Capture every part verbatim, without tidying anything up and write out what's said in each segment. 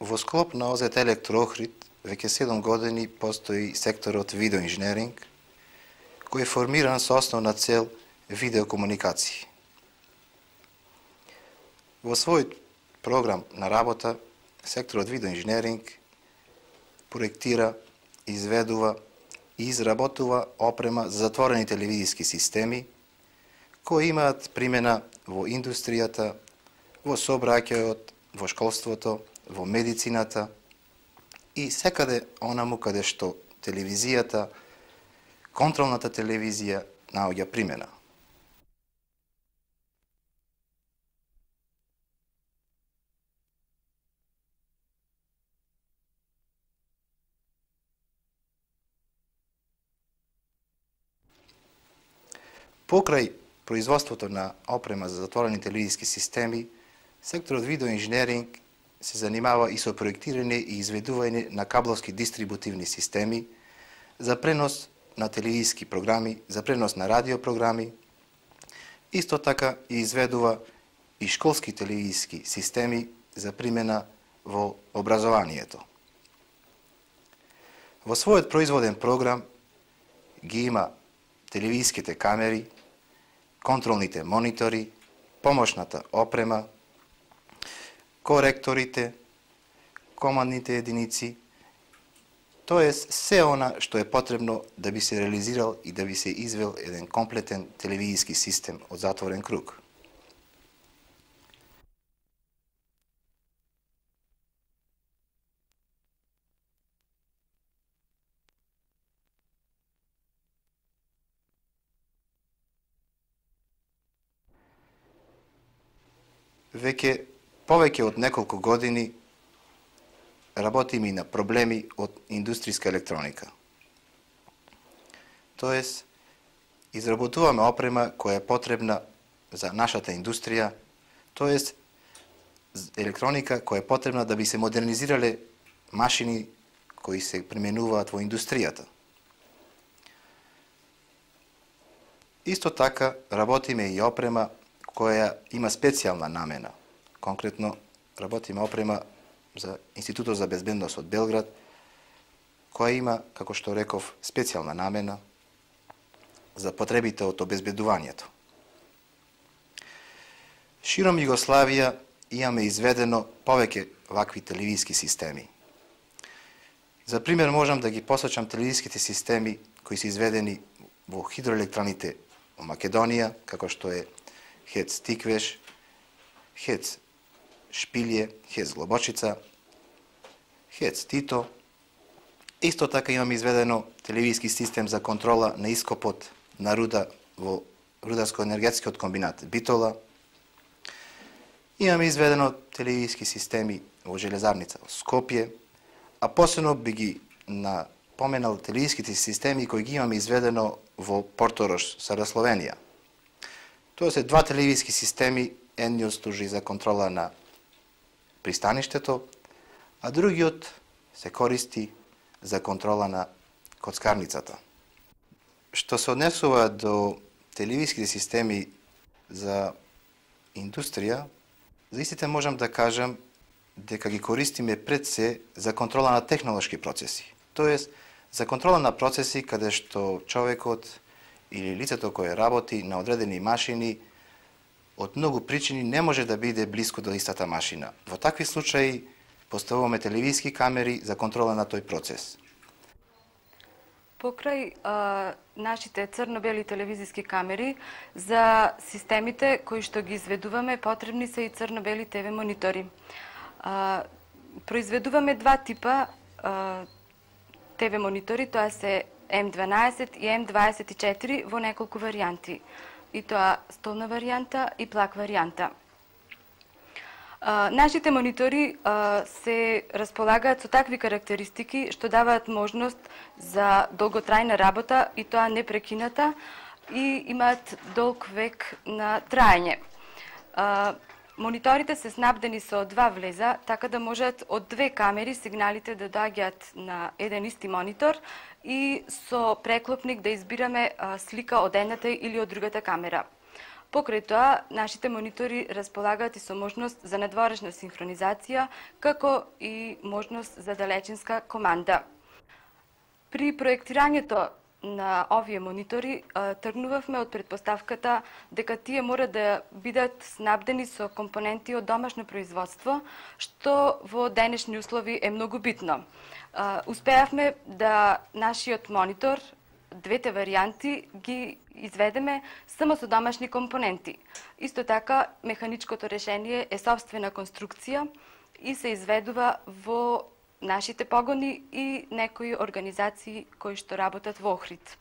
Во склоп на О З Т Електроохрид веќе седум години постои секторот видеоинженеринг, кој е формиран со основна цел видеокомуникации. Во својот програм на работа, секторот видеоинженеринг проектира, изведува и изработува опрема за затворени телевизиски системи, кои имаат примена во индустријата, во сообраќајот, во школството, во медицината и секаде онаму каде што телевизијата, контролната телевизија наоѓа примена. Покрај производството на опрема за затворени телевизиски системи, секторот видеоинженеринг се занимава и со проектирање и изведување на кабловски дистрибутивни системи за пренос на телевизиски програми, за пренос на радиопрограми. Исто така и изведува и школски телевизиски системи за примена во образованието. Во својот производен програм ги има телевизиските камери, контролните монитори, помошната опрема, коректорите, командните единици, тоест се она што е потребно да би се реализирал и да би се извел еден комплетен телевизиски систем од затворен круг. Веќе повеќе од неколку години работиме и на проблеми од индустријска електроника. Тоест, изработуваме опрема која е потребна за нашата индустрија, тоест електроника која е потребна да би се модернизирале машини кои се применуваат во индустријата. Исто така работиме и опрема која има специјална намена. Конкретно работиме опрема за Институтот за безбедност од Белград, која има, како што реков, специјална намена за потребите од обезбедувањето. Широм Југославија имаме изведено повеќе вакви телевизиски системи. За пример можам да ги посочам телевизиските системи кои се изведени во хидроелектраните во Македонија, како што е ХЕЦ Тиквеш, ХЕЦ Шпилје, ХЕЦ Глобочица, ХЕЦ Тито. Исто така имаме изведено телевизиски систем за контрола на ископот на руда во Рударско-енергетскиот комбинат Битола. Имаме изведено телевизиски системи во железарница во Скопје, а посебно би ги напоменал телевизиските системи кои ги имаме изведено во Порторош, Сара Словенија. Тоа се два телевизиски системи, едниот служи за контрола на пристаништето, а другиот се користи за контрола на коцкарницата. Што се однесува до телевизиските системи за индустрија, за истите можам да кажам дека ги користиме пред се за контрола на технолошки процеси. Тоест, за контрола на процеси каде што човекот или лицето кое работи на одредени машини од многу причини не може да биде блиску до истата машина. Во такви случаи поставуваме телевизиски камери за контрола на тој процес. Покрај а, нашите црно-бели телевизиски камери, за системите кои што ги изведуваме, потребни се и црно-бели Т В монитори. А, произведуваме два типа а, Т В монитори, тоа се М дванаесет и М дваесет и четири во неколку варијанти. И тоа столна варијанта и плак варијанта. А, нашите монитори а, се располагаат со такви карактеристики што даваат можност за долготрајна работа и тоа непрекината и имаат долг век на траење. А, мониторите се снабдени со два влеза, така да можат од две камери сигналите да доаѓаат на еден исти монитор и со преклопник да избираме а, слика од едната или од другата камера. Покрај тоа, нашите монитори располагаат и со можност за надворешна синхронизација, како и можност за далечинска команда. При проектирањето на овие монитори тргнувавме од претпоставката дека тие мора да бидат снабдени со компоненти од домашно производство, што во денешни услови е многу битно. Успеавме да нашиот монитор, двете варијанти, ги изведеме само со домашни компоненти. Исто така, механичкото решение е собствена конструкција и се изведува во нашите погони и некои организации кои што работат во Охрид.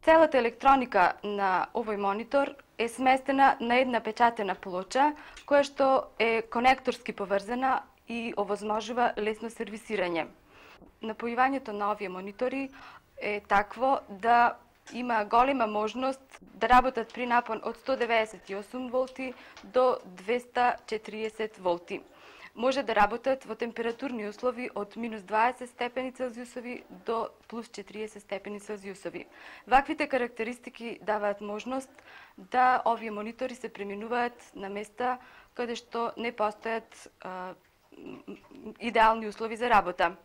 Целата електроника на овој монитор е сместена на една печатена плоча, која што е конекторски поврзана и овозможува лесно сервисирање. Напојувањето на овие монитори е такво да има голема можност да работат при напон од сто деведесет и осум волти до двеста четириесет волти. Може да работат во температурни услови од минус дваесет степени Целзиусови до плюс четириесет степени Целзиусови. Ваквите карактеристики даваат можност да овие монитори се преминуваат на места каде што не постојат а, идеални услови за работа.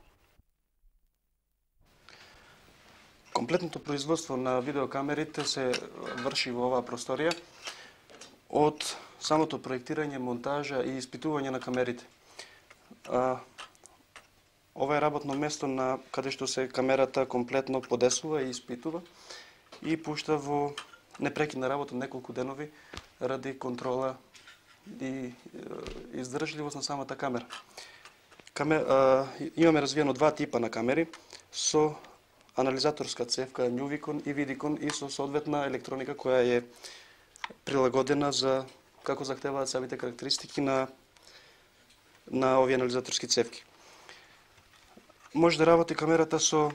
Комплетното производство на видеокамерите се врши во оваа просторија од самото проектирање, монтажа и испитување на камерите. А, ова е работно место на каде што се камерата комплетно подесува и испитува и пушта во непрекидна работа неколку денови ради контрола и издржливост на самата камера. Камер, а, имаме развиено два типа на камери со анализаторска цевка Nuvicon и Vidicon и со соодветна електроника која е прилагодена за како захтеваат самите карактеристики на на овие анализаторски цевки. Може да работи камерата со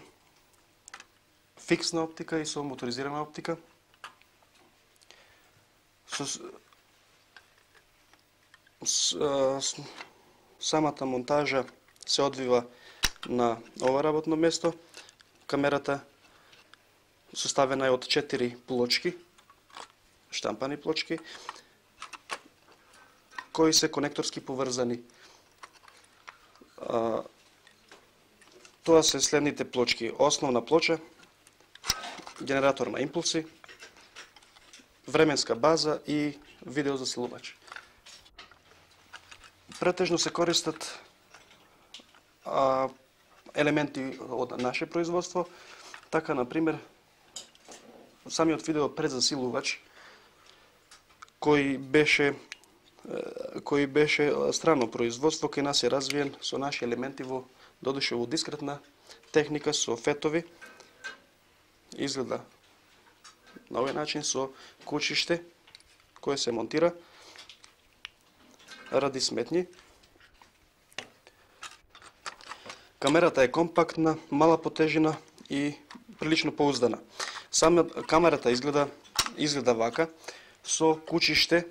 фиксна оптика и со моторизирана оптика. Со с, с, самата монтажа се одвива на ова работно место. Камерата составена е од четири плочки, штампани плочки, кои се конекторски поврзани. А, тоа се следните плочки: основна плоча, генератор на импулси, временска база и видеозаселувач. Претежно се користат а, елементи од наше производство, така, например, самиот видео предзасилувач, кој беше кој беше странно производство, кај нас е развиен со наши елементи во додуше во дискретна техника со фетови. Изгледа на овој начин со кучиште кое се монтира ради сметни. Камерата е компактна, мала по тежина и прилично поуздана. Сама камерата изгледа изгледа вака со кучиште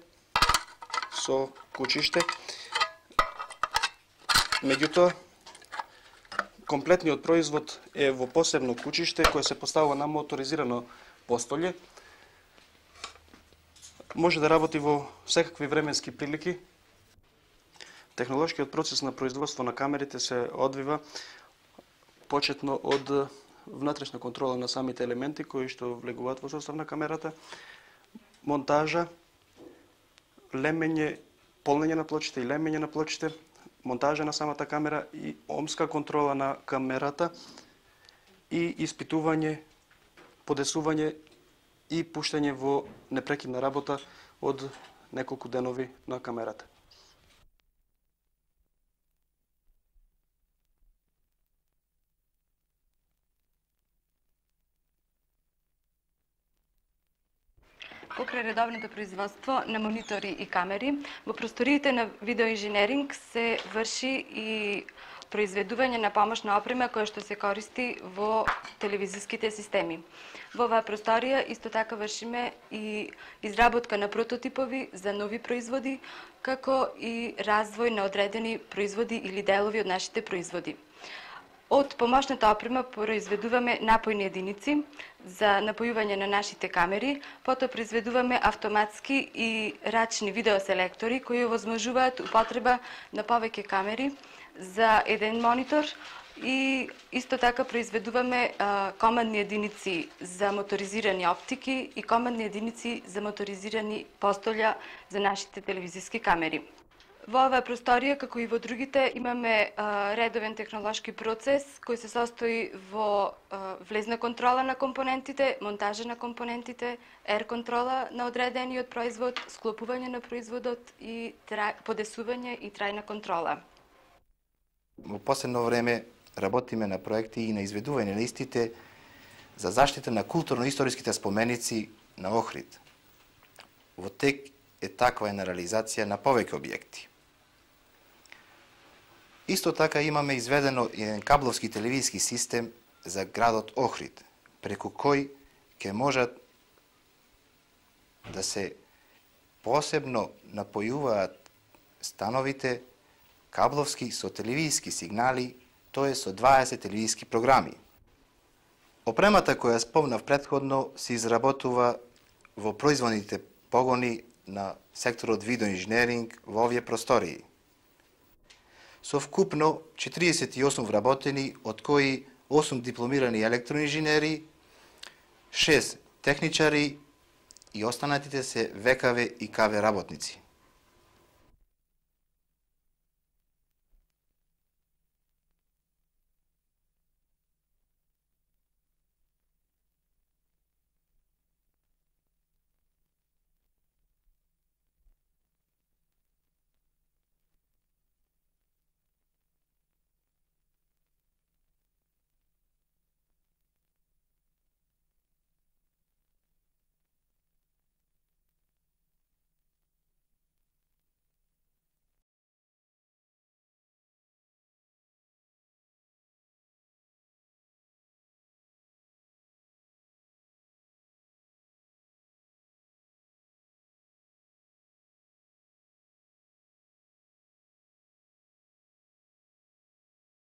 со кучиште. Меѓутоа, комплетниот производ е во посебно кучиште кое се поставува на моторизирано постолје. Може да работи во секакви временски прилики. Технолошкиот процес на производство на камерите се одвива почетно од внатрешна контрола на самите елементи кои што влегуваат во состав на камерата, монтажа, лемење, полнење на плочите и лемење на плочите, монтажа на самата камера и омска контрола на камерата и испитување, подесување и пуштање во непрекидна работа од неколку денови на камерата. Покрај редовното производство на монитори и камери, во просториите на видеоинженеринг се врши и произведување на помошна опрема која што се користи во телевизиските системи. Во оваа просторија исто така вршиме и изработка на прототипови за нови производи, како и развој на одредени производи или делови од нашите производи. Од помошната опрема произведуваме напојни единици за напојување на нашите камери, потоа произведуваме автоматски и рачни видеоселектори кои овозможуваат употреба на повеќе камери за еден монитор и исто така произведуваме а, командни единици за моторизирани оптики и командни единици за моторизирани постолја за нашите телевизиски камери. Во оваа просторија, како и во другите, имаме а, редовен технолошки процес кој се состои во а, влезна контрола на компонентите, монтажа на компонентите, ер контрола на одредениот производ, склопување на производот и трај, подесување и трајна контрола. Во последно време работиме на проекти и на изведување на истите за заштита на културно-историските споменици на Охрид. Во тек е таква една реализација на повеќе објекти. Исто така имаме изведено еден кабловски телевизиски систем за градот Охрид, преку кој ќе можат да се посебно напојуваат становите кабловски со телевизиски сигнали, тоа е со дваесет телевизиски програми. Опремата која спомнав претходно се изработува во производните погони на секторот видеоинженеринг во овие простории. Со вкупно четириесет и осум вработени, од кои осум дипломирани електроинженери, шест техничари и останатите се ВКВ и КВ работници.